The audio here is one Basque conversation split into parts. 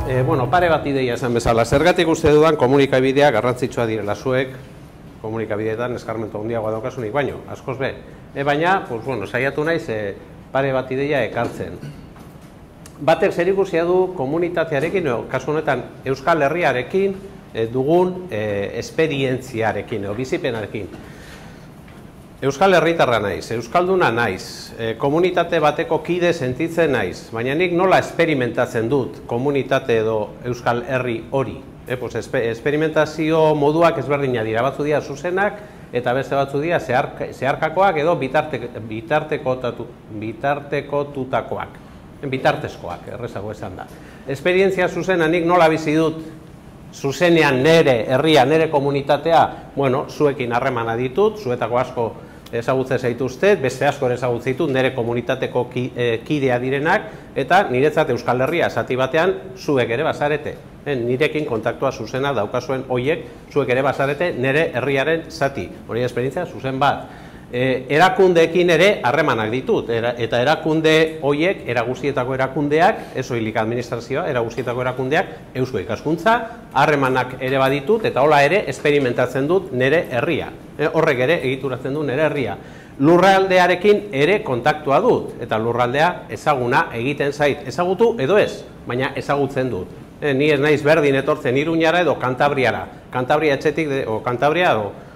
Bueno, pare bat ideia esan bezala. Zergatik uste dudan komunikabideak garrantzitsua direla zuek, komunikabideetan eskarmentu handiagoa daukasunik baino, askoz be. Baina, saiatu naiz pare bat ideia ekartzen. Batek zerikusia du komunitatearekin, kasu honetan Euskal Herriarekin dugun esperientziarekin, bizipenarekin. Euskal Herritarra naiz, Euskalduna naiz, komunitate bateko kide sentitzen naiz, baina nik nola esperimentatzen dut komunitate edo Euskal Herri hori. Esperimentazio moduak ezberdina dira, batzu dira zuzenak eta beste batzu dira zeharkakoak edo bitartekotutakoak, bitartezkoak, errezago esan da. Esperientzia zuzena nik nola bizi dut zuzenean nere herria, nere komunitatea, zuekin harremana ditut, zuetako asko ezagutzen zaituztet, beste asko ezagutzen ditut, nere komunitateko kidea direnak, eta niretzat Euskal Herria esati batean zuek ere bazarete. Nirekin kontaktua zuzena daukazuen hoiek, zuek ere bazarete nere herriaren zati. Hori esperientzia zuzen bat. Erakundeekin ere harremanak ditut, eta erakunde hoiek, eraguzietako erakundeak, ez soilik administrazioa, eraguzietako erakundeak, eusko ikaskuntza, harremanak ere baditut, eta hola ere esperimentatzen dut nere herria. Horrek ere egituratzen du nere herria. Lurraldearekin ere kontaktua dut, eta lurraldea ezaguna egiten zait. Ezagutu edo ez, baina ezagutzen dut. Ni ez naiz berdin etortzen Iruñara edo Kantabriara. Kantabria etxetik, o Kantabria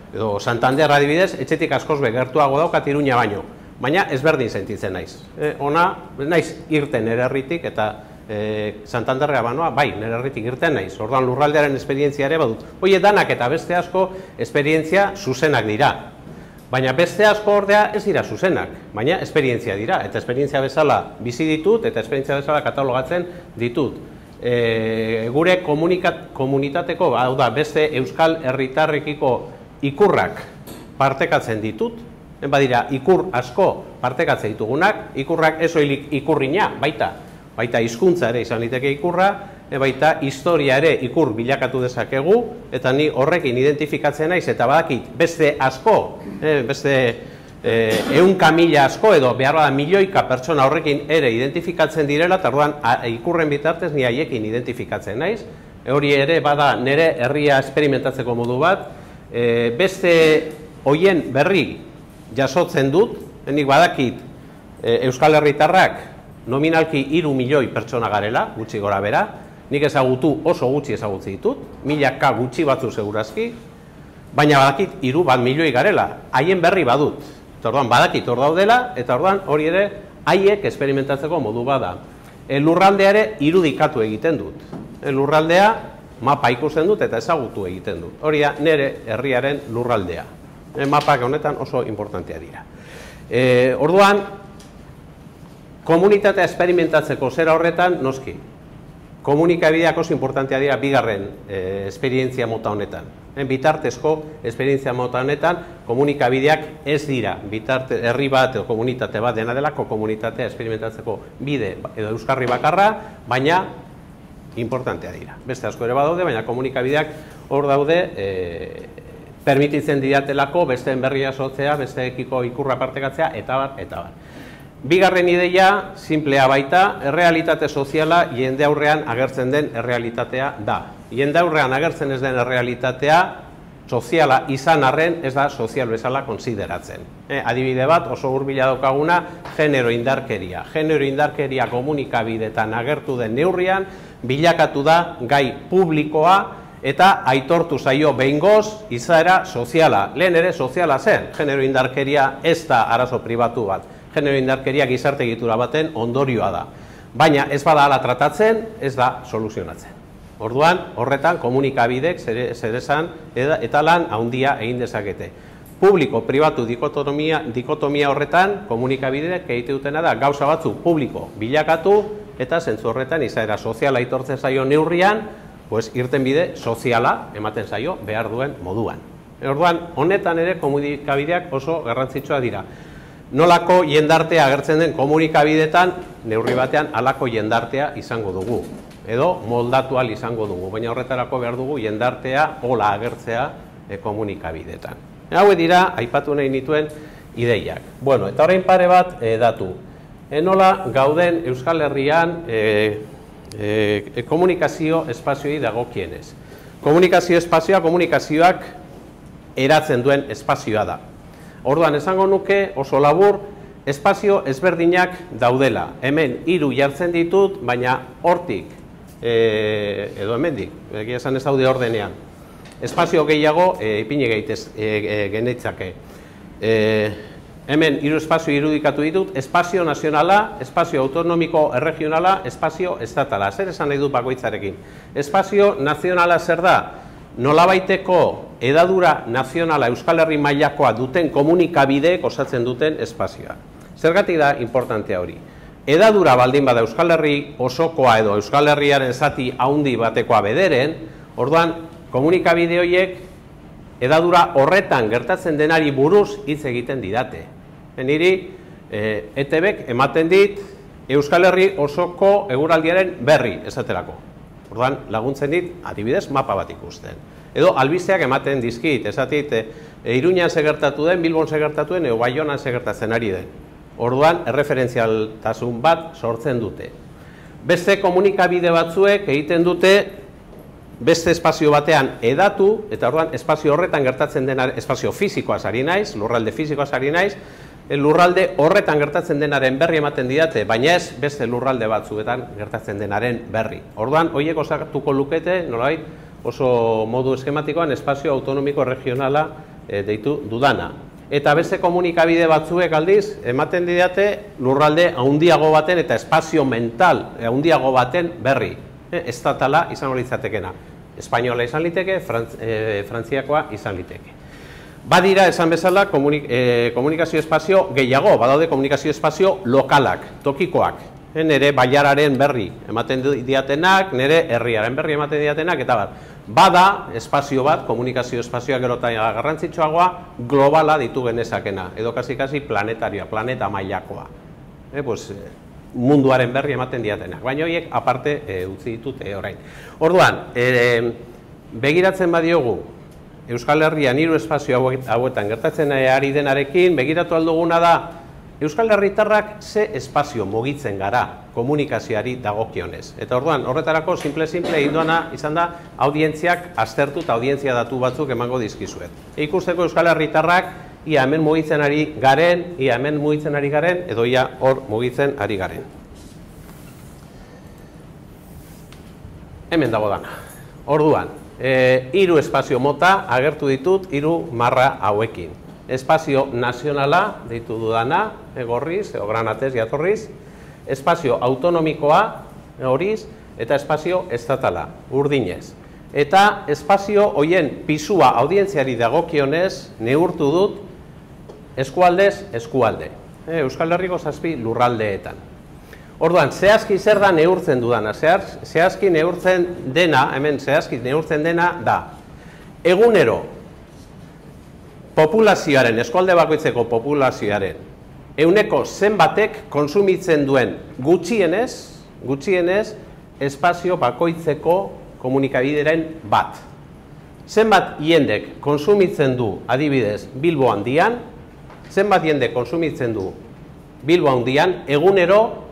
edo Santander adibidez, etxetik askoz gertuago daukat Iruña baino. Baina ezberdin sentitzen naiz. Ona, naiz irten nere herritik eta Santanderra banoa, bai, nere herritik irten naiz. Orduan lurraldearen esperientzia ere badut. Hoie danak eta beste asko esperientzia zuzenak dira. Baina beste asko ordea ez dira zuzenak, baina esperientzia dira. Eta esperientzia bezala bizi ditut eta esperientzia bezala katalogatzen ditut. Gure komunitateko, hau da, beste Euskal Herritarrekiko ikurrak partekatzen ditut, badira ikur asko partekatzen ditugunak, ikurrak ez soilik ikurrina, baita hizkuntza ere izan liteke ikurra, baita historia ere ikur bilakatu dezakegu, eta ni horrekin identifikatzen naiz, eta badakit beste asko, beste 100.000 asko edo behar bada milioika pertsona horrekin ere identifikatzen direla, eta orduan ikurren bitartez ni haiekin identifikatzen naiz, hori ere bada nire herria esperimentatzeko modu bat, beste hoien berri jasotzen dut, nik badakit Euskal Herritarrak nominalki 3 milioi pertsona garela, gutxi gora bera, nik ezagutu oso gutxi ezagutzi ditut, milaka gutxi batzu segurazki, baina badakit 3 milioi garela, haien berri badut, orduan badakit hor daudela, eta orduan hori ere haiek esperimentatzeko modu bada. Lurraldea ere irudikatu egiten dut, lurraldea mapa ikusten dut eta ezagutu egiten dut. Hori da nire herriaren lurraldea. Mapak honetan oso importantea dira. Orduan, komunitatea esperimentatzeko zera horretan, noski. Komunikabideak oso importantea dira bigarren esperientzia mota honetan. Bitartezko esperientzia mota honetan, komunikabideak ez dira. Herri bat edo komunitate bat dena delako komunitatea esperimentatzeko bide edo euskarri bakarra, baina importantea dira. Beste asko ere badaude, baina komunikabideak hor daude permititzen didatelako besteen berria sotzea, besteekiko ikurra partekatzea, eta bar. Bigarren ideia, simplea baita, errealitate soziala jende aurrean agertzen den errealitatea da. Jende aurrean agertzen ez den errealitatea soziala izan arren ez da sozial bezala konsideratzen. Adibide bat, oso hurbila daukaguna, genero indarkeria. Genero indarkeria komunikabidetan agertu den neurrian, bilakatu da gai publikoa eta aitortu zaio behingoz izaera soziala. Lehen ere soziala zen, genero indarkeria ez da arazo pribatu bat. Genero indarkeria gizarte egitura baten ondorioa da. Baina ez bada hala tratatzen, ez da soluzionatzen. Orduan, horretan komunikabidek zeresan eta lan handia egin dezakete. Publiko-pribatu dikotomia horretan komunikabideek egite dutena da gauza batzu publiko bilakatu eta zentzu horretan izaera soziala aitortzen zaio neurrian, irten bide soziala ematen zaio behar duen moduan. Orduan, honetan ere komunikabideak oso garrantzitsua dira. Nolako jendartea agertzen den komunikabidetan, neurri batean halako jendartea izango dugu. Edo moldatu ahal izango dugu, baina horretarako behar dugu jendartea hola agertzea komunikabidetan. Hau dira, aipatu nahi nituen ideiak. Eta orain pare bat datu. Nola gauden Euskal Herrian komunikazio espazioei dagokienez. Komunikazio espazioa komunikazioak eratzen duen espazioa da. Orduan, esango nuke oso labur, espazio ezberdinak daudela. Hemen 3 jartzen ditut, baina hortik, edo hemendik, egia esan ez daude ordenean. Espazio gehiago ipini geneitzake. Hemen 3 espazio irudikatu ditut, espazio nazionala, espazio autonomiko erregionala, espazio estatala. Zer esan nahi dut bakoitzarekin? Espazio nazionala zer da? Nolabaiteko hedadura nazionala Euskal Herri mailakoa duten komunikabideek osatzen duten espazioa. Zergatik da importantea hori? Hedadura baldin bada Euskal Herri osokoa edo Euskal Herriaren zati handi batekoa bederen, orduan komunikabide horiek hedadura horretan gertatzen denari buruz hitz egiten didate. Niri ETBek ematen dit Euskal Herri osoko eguraldiaren berri esaterako. Orduan laguntzen dit adibidez mapa bat ikusten. Edo albisteak ematen dizkit, esatit Iruñan segertatu den, Bilbon segertatu den, edo Baionan segertatzen ari den. Orduan erreferentzialtasun bat sortzen dute. Beste komunikabide batzuek egiten dute beste espazio batean hedatu, eta orduan espazio horretan gertatzen denaren, espazio fisikoaz ari naiz, lurralde fisikoaz ari naiz, lurralde horretan gertatzen denaren berri ematen didate, baina ez beste lurralde batzuetan gertatzen denaren berri. Orduan, horiek osatuko lukete, nolabait, oso modu eskematikoan espazio autonomiko regionala deitu dudana. Eta beste komunikabide batzuek aldiz, ematen didate lurralde handiago baten eta espazio mental handiago baten berri. Estatala izango litzatekena. Espainola izan liteke, frantziakoa izan liteke. Badira, esan bezala, komunikazio espazio gehiago, badaude komunikazio espazio lokalak, tokikoak. Nere bailararen berri ematen diatenak, nere herriaren berri ematen diatenak, eta bat. Bada, espazio bat, komunikazio espazioak erotan garrantzitsuagoa, globala ditu genezakena, edo kasi planetarioa, planeta mailakoa. Munduaren berri ematen diatenak, baina horiek aparte utzi ditute orain. Orduan, begiratzen badiogu, Euskal Herrian 3 espazio hauetan gertatzen ari denarekin, begiratu alduguna da, Euskal Herritarrak ze espazio mugitzen gara komunikazioari dagokionez. Eta orduan, horretarako simple indoana izan da, audientziak aztertu eta audientzia datu batzuk emango dizkizuet. Ikusteko Euskal Herritarrak, ia hemen mugitzen ari garen, edo ia hor mugitzen ari garen. Hemen dago dana. Orduan, 3 espazio mota agertu ditut 3 marra hauekin. Espazio nazionala deitu dudana, gorriz, edo granatez jatorriz, espazio autonomikoa horiz, eta espazio estatala, urdinez. Eta espazio hoien pisua audientziari dagokionez neurtu dut eskualdez eskualde. Euskal Herriko 7 lurraldeetan. Orduan, zehazki zer da neurtzen dudana? Zehazki neurtzen dena, hemen zehazki neurtzen dena da. Egunero, populazioaren, eskualde bakoitzeko populazioaren, ehuneko zenbatek konsumitzen duen gutxienez, espazio bakoitzeko komunikabideren bat. Zenbat jendek konsumitzen du, adibidez, Bilbo handian, zenbat jendek konsumitzen du Bilbo handian, egunero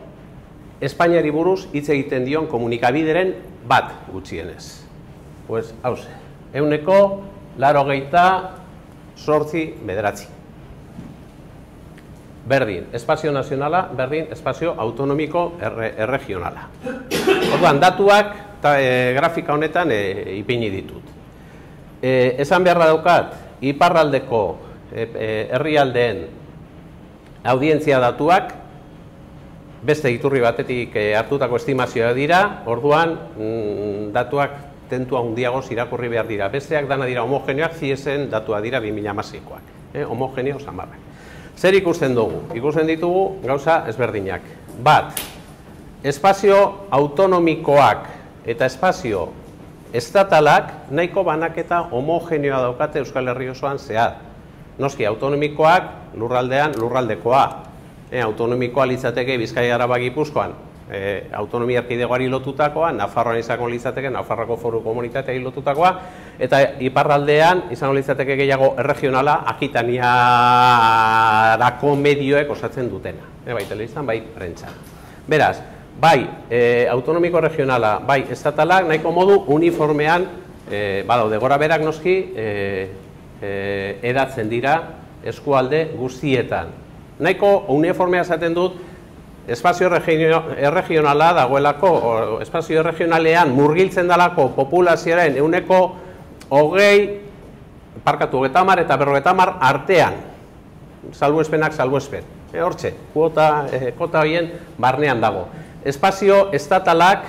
Espainiari buruz hitz egiten dion komunikabideren bat gutxienez. Pues, hauze, ehuneko 98,9. Berdin, espazio nazionala, berdin, espazio autonomiko erregionala. Orduan, datuak grafika honetan ipini ditut. Esan beharra daukat, iparraldeko herrialdeen audientzia datuak, beste iturri batetik hartutako estimazioa dira, orduan datuak tentu handiagoz irakurri behar dira. Besteak dana dira homogeneoak, ziesen datua dira 2016koak. Homogeneo samarrak. Zer ikusten dugu? Ikusten ditugu gauza ezberdinak. Bat, espazio autonomikoak eta espazio estatalak nahiko banaketa homogeneoa daukate Euskal Herri osoan zehar. Noski, autonomikoak lurraldean lurraldekoa. Autonomikoa litzateke Bizkaia Araba Gipuzkoan, autonomia erkidegoari lotutakoa, Nafarroan izango litzateke Nafarroko Foru Komunitateari lotutakoa, eta iparraldean izango litzateke gehiago erregionala Akitaniarako medioek osatzen dutena. Bai telebistan, bai prentsan. Beraz, bai autonomiko regionala, bai estatalak, nahiko modu uniformean, badaude gora berak noski, eratzen dira eskualde guztietan. Nahiko uniformea esaten dut, espazio erregionala dagoelako, espazio erregionalean murgiltzen dalako populazioaren ehuneko 20, parkatu 30 eta 50 artean, salbuespenak salbuespen. Hortxe, kota horien barnean dago. Espazio estatalak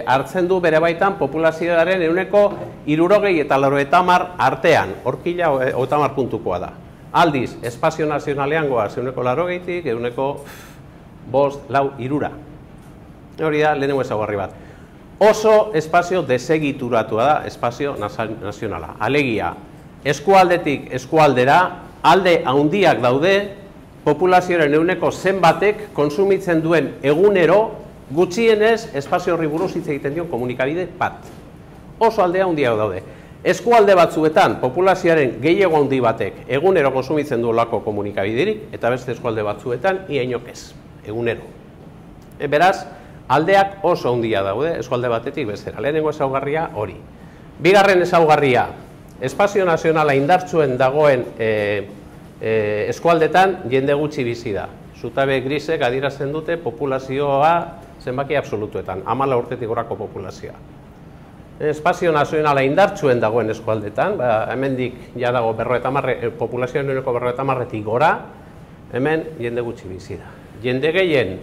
hartzen du bere baitan populazioaren ehuneko 60 eta 90 artean, horkila 30 puntukoa da. Aldiz, espazio nazionalean goaz, ehuneko 80tik, ehuneko 5, 4, 3. Hori da, lehenengo ezaugarri bat. Oso espazio desegituratua da, espazio nazionala. Alegia, eskualdetik eskualdera, alde handiak daude, populazioaren ehuneko zenbatek konsumitzen duen egunero, gutxienez espazio horri buruz hitz egiten dion komunikabide bat. Oso aldea handiak daude. Eskualde batzuetan, populazioaren gehiago handi batek egunero konsumitzen duelako komunikabiderik, eta beste eskualde batzuetan ia inok ez, egunero. Beraz, aldeak oso handia daude, eskualde batetik bestera. Lehenengo ezaugarria hori. Bigarren ezaugarria, espazio nazionala indartsuen dagoen eskualdetan jende gutxi bizi da. Zutabe grisek adierazten dute populazioa zenbaki absolutuetan, 14 urtetik gorako populazioa. Espazio nazionala indartsuen dagoen eskualdetan, hemendik ja dago populazioaren ehuneko 50-tik gora, hemen jende gutxi bizi da. Jende gehien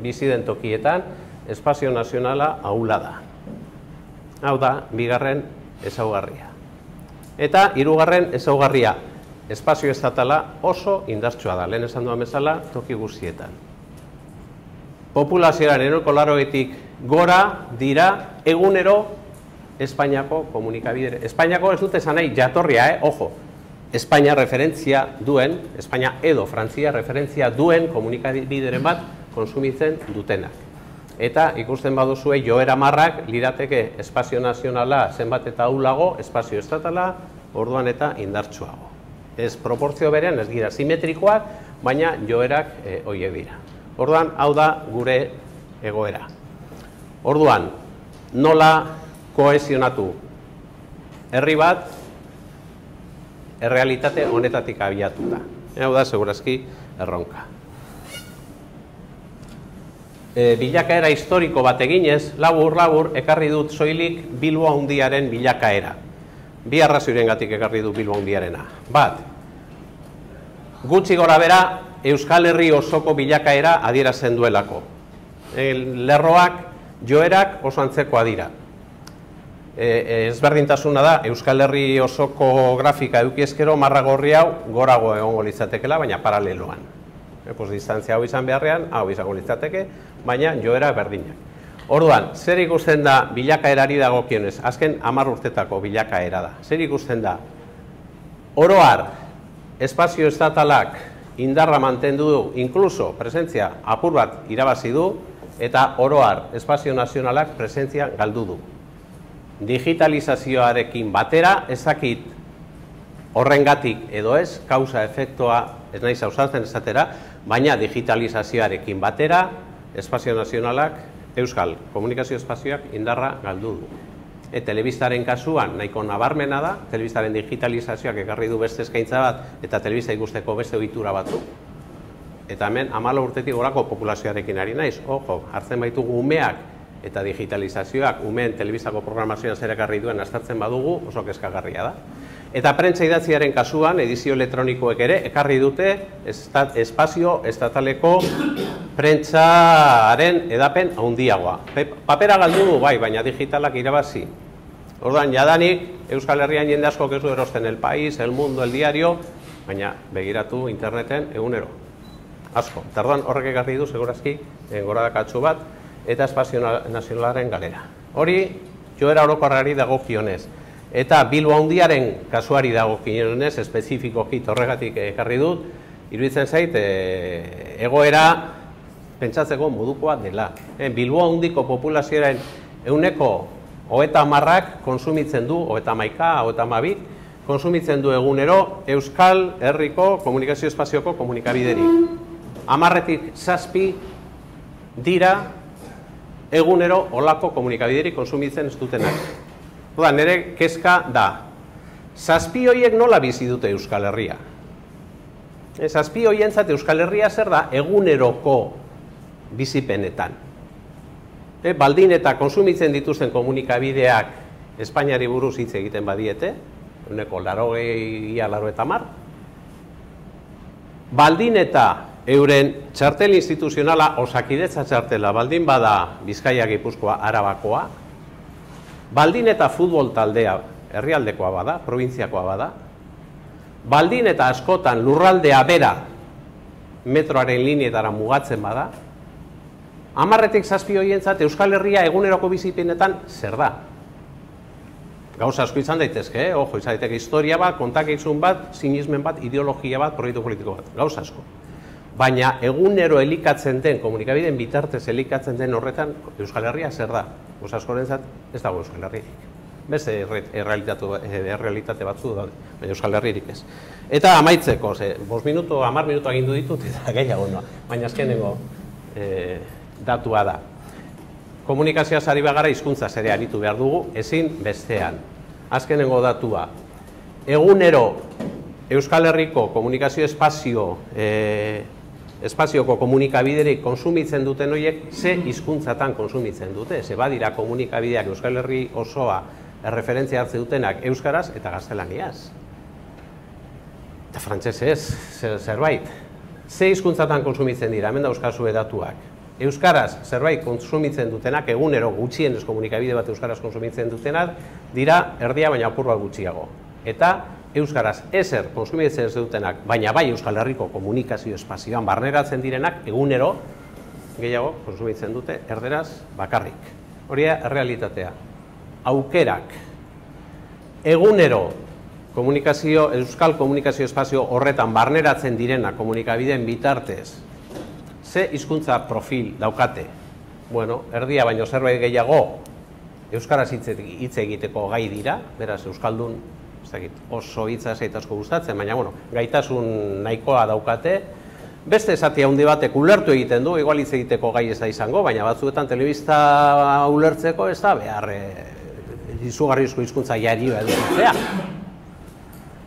bizi den tokietan, espazio nazionala ahula da. Hau da, bigarren ezaugarria. Eta hirugarren ezaugarria, espazio estatala oso indartsua da, lehen esan duan bezala, toki guztietan. Populazioaren ehuneko 80tik gora dira egunero Espainiako komunikabidere. Espainiako ez dute esan nahi jatorria, ojo, Espainia referentzia duen, Espainia edo Frantzia referentzia duen komunikabideren bat konsumitzen dutenak. Eta ikusten baduzue joera marrak lirateke espazio nazionala zenbat eta ahulago, espazio estatala orduan eta indartsuago. Ez proportzio berean, ez dira simetrikoak, baina joerak horiek dira. Orduan, hau da gure egoera. Orduan, nola kohesionatu herri bat errealitate honetatik abiatuta. Hau da, segurazki, erronka. Bilakaera historiko bat eginez, labur, ekarri dut soilik Bilbo Handiaren bilakaera. Bi arrazoirengatik ekarri du Bilbo Handiarena. Bat, gutxi gora bera, Euskal Herri osoko bilakaera adierazten duelako. Lerroak, joerak oso antzekoa dira. Ezberdintasuna da, Euskal Herri osoko grafika edukiezkero marra gorri hau gorago egongo litzatekela, baina paraleloan. Distantzia hau izan beharrean, hau izango litzateke, baina joera berdinak. Orduan, zer ikusten da bilakaerari dagokionez? Azken 10 urtetako bilakaera da. Zer ikusten da? Oro har, espazio estatalak indarra mantendu du, inkluso presentzia apur bat irabazi du, eta oro har, espazio nazionalak presentzia galdu du. Digitalizazioarekin batera, ezakit horrengatik edo ez, kausa efektua ez naiz ausartzen esatera, baina digitalizazioarekin batera, espazio nazionalak, euskal komunikazio espazioak indarra galdu du. Telebistaren kasuan nahiko nabarmena da, telebistaren digitalizazioak ekarri du beste eskaintza bat, eta telebista ikusteko beste ohitura batzuk. Eta hemen 14 urtetik gorako populazioarekin ari naiz, ojo, hartzen baitugu umeak, eta digitalizazioak umeen telebistako programazioan zer ekarri duen aztertzen badugu, oso kezkagarria da. Eta prentsa idatziaren kasuan, edizio elektronikoek ere, ekarri dute espazio estataleko prentsaren edapen handiagoa. Papera galdu du, bai, baina digitalak irabazi. Orduan, jadanik, Euskal Herrian jende asko ez du erosten El País, El Mundo, El Diario, baina begiratu interneten egunero. Asko. Eta orduan, horrek ekarri du, segurazki, goradakatsu bat, eta espazio nazionalaren galera. Hori, joera orokorrari dagokionez. Eta Bilbo Handiaren kasuari dagokionez, espezifikoki horregatik ekarri dut, iruditzen zait, egoera pentsatzeko modukoa dela. Bilbo Handiko populazioaren ehuneko 30ak konsumitzen du, 31, 32, konsumitzen du egunero Euskal Herriko komunikazio espazioko komunikabiderik. 10tik 7 dira egunero olako komunikabiderik konsumitzen ez dutenak. Nire kezka da, zazpi horiek nola bizi dute Euskal Herria? Zazpi horientzat Euskal Herria zer da eguneroko bizipenetan. Baldin eta konsumitzen dituzten komunikabideak Espainiari buruz hitz egiten badiete, uneko 80-90, baldin eta euren txartel instituzionala, Osakidetza txartela, baldin bada Bizkaia, Gipuzkoa, Arabakoa, baldin eta futbol taldea herrialdekoa bada, probintziakoa bada, baldin eta askotan lurraldea bera metroaren lineetara mugatzen bada, 10-tik 7 horientzat Euskal Herria eguneroko bizipenetan zer da? Gauza asko izan daitezke, ojo, izan daiteke historia bat, kontakizun bat, sinismen bat, ideologia bat, proiektu politiko bat, gauza asko. Baina egunero elikatzen den, komunikabideen bitartez elikatzen den horretan, Euskal Herria zer da? Gauza askorentzat ez dago Euskal Herririk. Beste errealitate batzu daude, baina Euskal Herririk ez. Eta amaitzeko, 5 minuto, 10 minuto agindu ditut, eta gehiago noa, baina azkenengo datua da. Komunikazioa ari bagara hizkuntza ere aritu behar dugu, ezin bestean. Azkenengo datua, egunero Euskal Herriko komunikazio espazioko komunikabiderik konsumitzen duten horiek, ze hizkuntzatan konsumitzen dute, ze badira komunikabideak Euskal Herri osoa erreferentzia hartze dutenak euskaraz eta gaztelaniaz. Eta frantsesez, zerbait. Ze hizkuntzatan konsumitzen dira, hemen dauzkazue datuak. Euskaraz zerbait konsumitzen dutenak, egunero gutxienez komunikabide bat euskaraz konsumitzen dutenak, dira erdia baina apur bat gutxiago. Eta euskaraz ezer konsumitzen ez dutenak, baina bai Euskal Herriko komunikazio espazioan barneratzen direnak, egunero gehiago konsumitzen dute erderaz bakarrik. Hori da errealitatea. Aukerak. Egunero euskal komunikazio espazio horretan barneratzen direna komunikabideen bitartez, ze hizkuntza profil daukate? Bueno, erdia baino zerbait gehiago euskaraz hitz egiteko gai dira, beraz euskaldun oso hitza zait asko gustatzen, baina gaitasun nahikoa daukate. Beste esatia handi batek ulertu egiten du, igual hitz egiteko gai ez da izango, baina batzuetan telebista ulertzeko ez da behar izugarrizko hizkuntza jarioa edukitzea.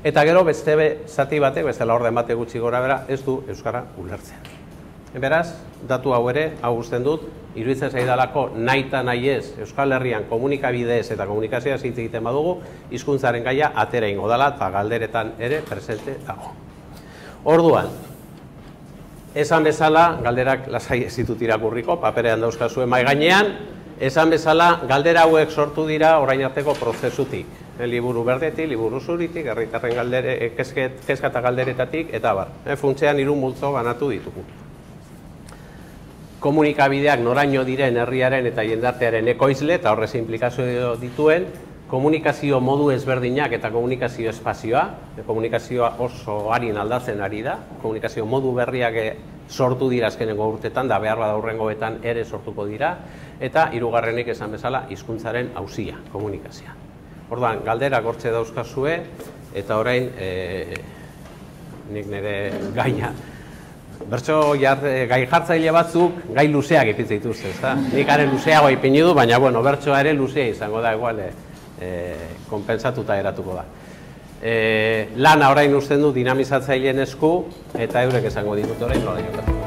Eta gero beste zati batek, beste laurden batek gutxi gora bera, ez du euskara ulertzea. Beraz, datu hau ere, hau usten dut, iruditzen zaidalako nahi eta nahi ez Euskal Herrian komunikabidez eta komunikazioa hitz egiten badugu, hizkuntzaren gaia atera ingo dela eta galderetan ere presente dago. Orduan, esan bezala, galderak lasai ez ditut irakurriko, paperean dauzkazue mahai gainean, esan bezala, galdera hauek sortu dira orain arteko prozesutik. Liburu berdetik, liburu zuritik, herritarren kezka eta galderetatik, eta bar. Funtsean 3 multzo banatu ditugu. Komunikabideak noraino diren herriaren eta jendartearen ekoizle, eta horrez implikazio dituen, komunikazio modu ezberdinak eta komunikazio espazioa, komunikazioa oso harin aldatzen ari da, komunikazio modu berriak sortu dira azkenengo urtetan, da behar bada hurrengoetan ere sortuko dira, eta 3. esan bezala hizkuntzaren auzia, komunikazioa. Orduan, galderak hortze dauzkazue, eta orain, nik nire gaia, bertso gai jartzaile batzuk gai luzeak ipitze dituzte, ezta? Nik are luzeago ipini du, baina bertsoa ere luzea izango da, igual, konpentsatuta eratuko da. Lana orain usten du dinamizatzaileen esku, eta eurek esango ditut orain nola jokatu.